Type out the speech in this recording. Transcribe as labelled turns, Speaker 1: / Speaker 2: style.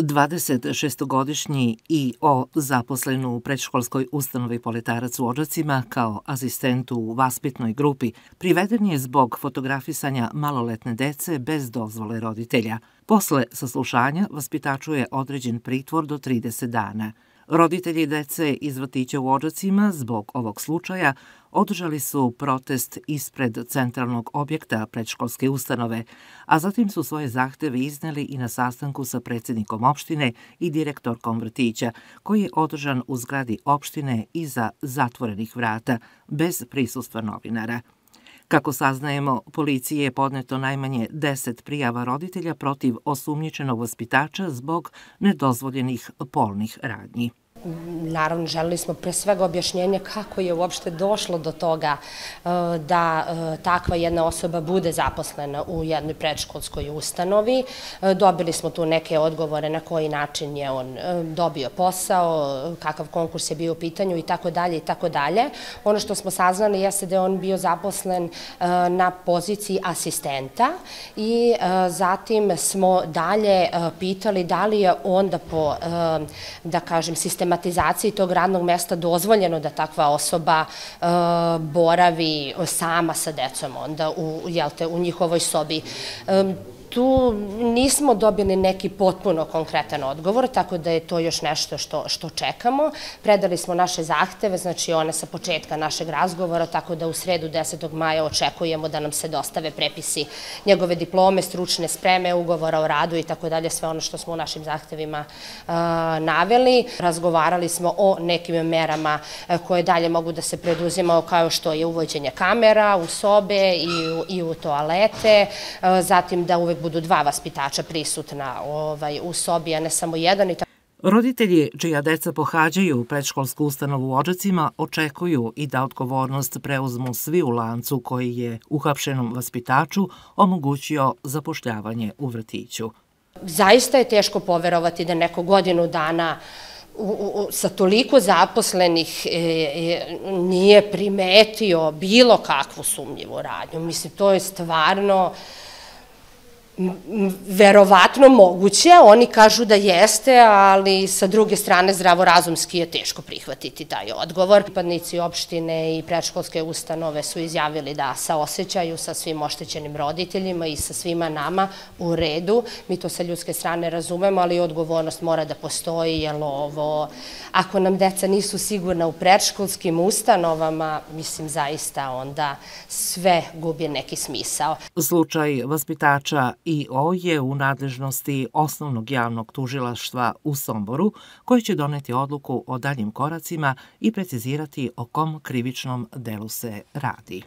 Speaker 1: 26-godišnji I.O. zaposlen u predškolskoj ustanovi Poletarac u Odžacima kao asistent u vaspitnoj grupi priveden je zbog fotografisanja maloletne dece bez dozvole roditelja. Posle saslušanja vaspitaču je određen pritvor do 30 dana. Roditelji dece iz vrtića u Odžacima zbog ovog slučaja održali su protest ispred centralnog objekta predškolske ustanove, a zatim su svoje zahteve izneli i na sastanku sa predsjednikom opštine i direktorkom vrtića, koji je održan u zgradi opštine iza zatvorenih vrata, bez prisustva novinara. Kako saznajemo, policiji je podneto najmanje 10 prijava roditelja protiv osumnjičenog vaspitača zbog nedozvoljenih polnih radnji.
Speaker 2: Naravno, želeli smo pre svega objašnjenje kako je uopšte došlo do toga da takva jedna osoba bude zaposlena u jednoj predškolskoj ustanovi. Dobili smo tu neke odgovore na koji način je on dobio posao, kakav konkurs je bio u pitanju i tako dalje i tako dalje. Ono što smo saznali jeste da je on bio zaposlen na poziciji asistenta i zatim smo dalje pitali da li je onda po, da kažem, sistematizaciji tog radnog mesta dozvoljeno da takva osoba boravi sama sa decom onda u njihovoj sobi. Tu nismo dobili neki potpuno konkretan odgovor, tako da je to još nešto što čekamo. Predali smo naše zahteve, znači one sa početka našeg razgovora, tako da u sredu 10. maja očekujemo da nam se dostave prepisi njegove diplome, stručne spreme, ugovora o radu i tako dalje, sve ono što smo u našim zahtevima naveli. Razgovarali smo o nekim merama koje dalje mogu da se preduzimaju, kao što je uvođenje kamera u sobe i u toalete, zatim da uvek budu 2 vaspitača prisutna u sobi, a ne samo jedan.
Speaker 1: Roditelji čija deca pohađaju predškolsku ustanovu u Odžacima očekuju i da odgovornost preuzmu svi u lancu koji je uhapšenom vaspitaču omogućio zapošljavanje u vrtiću.
Speaker 2: Zaista je teško poverovati da neko godinu dana sa toliko zaposlenih nije primetio bilo kakvu sumnjivu radnju. Mislim, to je stvarno verovatno moguće, oni kažu da jeste, ali sa druge strane zdravorazumski je teško prihvatiti taj odgovor. Pripadnici opštine i predškolske ustanove su izjavili da saosećaju sa svim oštećenim roditeljima i sa svima nama u redu. Mi to sa ljudske strane razumemo, ali odgovornost mora da postoji, jer ako nam deca nisu sigurna u predškolskim ustanovama, mislim zaista onda sve gubi neki smisao.
Speaker 1: Slučaj vaspitača I.O. je u nadležnosti Osnovnog javnog tužilaštva u Somboru, koji će doneti odluku o daljim koracima i precizirati o kom krivičnom delu se radi.